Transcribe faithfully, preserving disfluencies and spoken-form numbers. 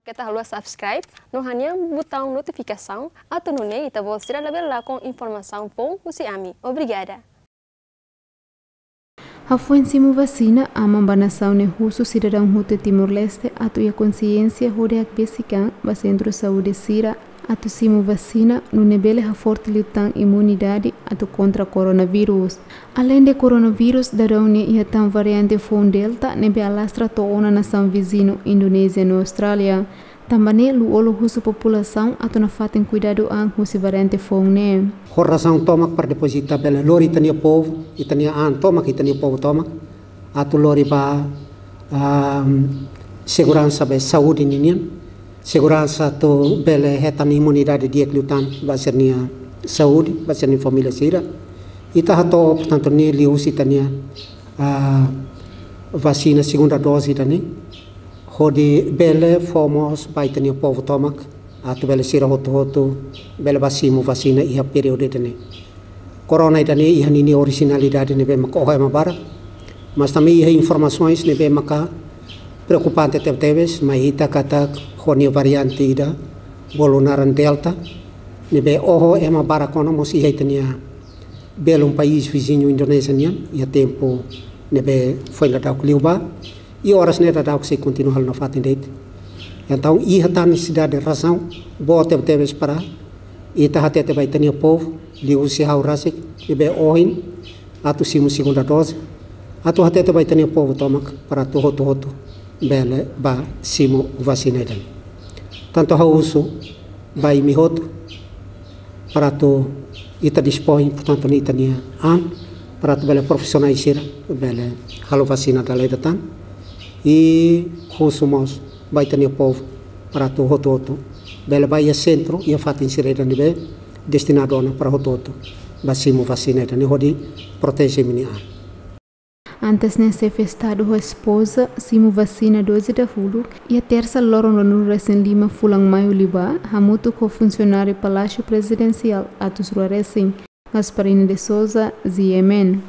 Keta haluha subscribe no hanehan butaun notifikasaun atu nune'e ita-boot sira labele lakon informasaun foun husi ami. Obrigada. Hafoin simu vasina, aman ba nasaun ne'e husu sidadaun hotu Timor-Leste atu iha konsiénsia hodi hakbesik an ba sentru saúde sira atu simu vasina, nune'e bele haforte liután imunidade atu kontra koronavírus. Aleinde koronavírus, daudaun ne'e iha tan variante foun Delta ne'ebé alastra to'o ona nasaun viziñu Indonézia no Austrália. Tanba ne'e Lú-Olo husu populasaun atu nafatin kuidadu an husi variante foun ne'e. Ho razaun tomak para depois ita bele lori ita-nia povu, ita-nia an tomak, ita-nia povu tomak. Atu lori ba, ah, seguransa be saúde ninian. Seguransa atu bele hetan imunidade di'ak liután ba sira-nia saúde, ba sira-nia família sira. Ita hato'o, portantu, ne'e liuhusi ita-nia, ah, vasina segunda dose ida-ne'e. Hodi bele fó mós ba ita-nia povu tomak, atu bele sira hotu-hotu bele bá simu vasina iha períodu ida-ne'e. Korona ida-ne'e iha ninia orijinalidade ne'ebé maka oho ema barak, mas tanba iha informasoens ne'ebé maka preokupante tebetebes, mai ita katak ho nia variante ida bolu naran Delta, ne'ebé oho ema barak ona mós iha ita-nia belun país viziñu Indonézia nian, iha tempu ne'ebé foin daudauk liubá, i oras ne'e daudauk sei kontinua halo nafatin de'it. Entaun, iha tan nesesidade, razaun boot tebetebes para ita hatete ba ita-nia povu, liuhusi ha'u rasik, ne'ebé ohin atu simu segunda dose, atu hatete ba ita-nia povu tomak para atu hotu-hotu bele bá simu vasina ida-ne'e. Tantu ha'u husu ba imi hotu para atu ita dispõe, portantu, ita-nia an, para atu bele profisionál sira bele halo vasina dala ida tan. I husu mós ba ita-nia povu para atu hotu-hotu bele bá iha sentru, iha fatin sira ida ne'ebé destinadu ona para hotu-hotu bá simu vasina ida-ne'e hodi proteje imi-nia an. Antes ne'e, Xefe Estadu ho espoza simu vasina dose dahuluk iha tersa loron ruanulu resin lima fulan maiu liubá, hamutuk ho funsionáriu Palásiu Prezidensiál atus rua resin. Gasparina de Souza, G M N.